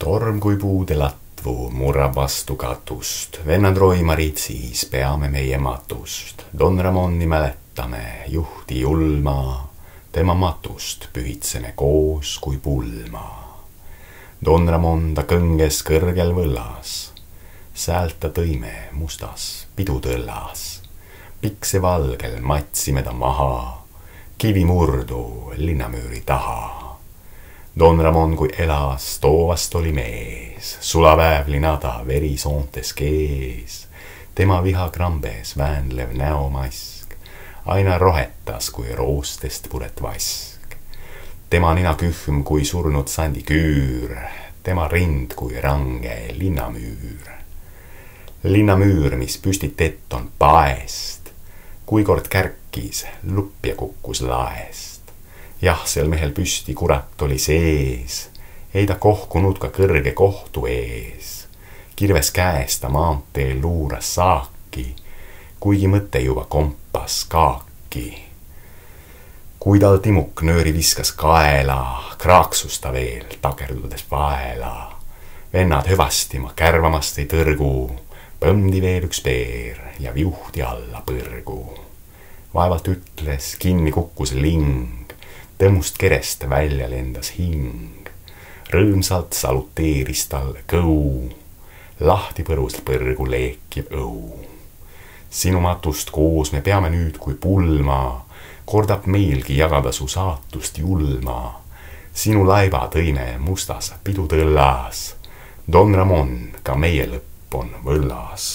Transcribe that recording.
Torm kui puude latvu murrab vastu katust, vennad roimarid siis peame meie matust. Don Ramoni mäletame, juhti julma, tema matust pühitseme koos kui pulma. Don Ramon ta kõnges kõrgel võllas, säält ta tõime mustas pidutõllas. Pikse valgel matsime ta maha, kivi murdu linnamüüri taha. Don Ramon kui elas, toovast oli mees, sulaväevlina ta verisoontes kees. Tema vihakrambes väänlev näomask aina rohetas kui roostest puret vask. Tema nina kühm kui surnud sandiküür, tema rind kui range linnamüür. Linnamüür, mis püstitet on paest, kui kord kärkis, lupp ja kukkus laest. Jah, sel mehel püsti kurat oli sees, ei ta kohkunud ka kõrge kohtu ees. Kirves käes ta maanteel luuras saaki, kuigi mõte juba kompas kaaki. Kui tal timuk nööri viskas kaela, kraaksus ta veel takerdudes vaela. Vennad hõvasti ma kärvamast ei tõrgu, põmdi veel üks peer ja viuhti alla põrgu. Vaevalt ütles, kinni kukkus ling, tõmmust kerest välja lendas hing. Rõõmsalt saluteeris talle kõu, lahti põrus põrgu leekiv õu. Sinu matust koos me peame nüüd kui pulma, kordab meilgi jagada su saatust julma. Sinu laiba tõime mustas pidutõllas, Don Ramon, ka meie lõpp on võllas.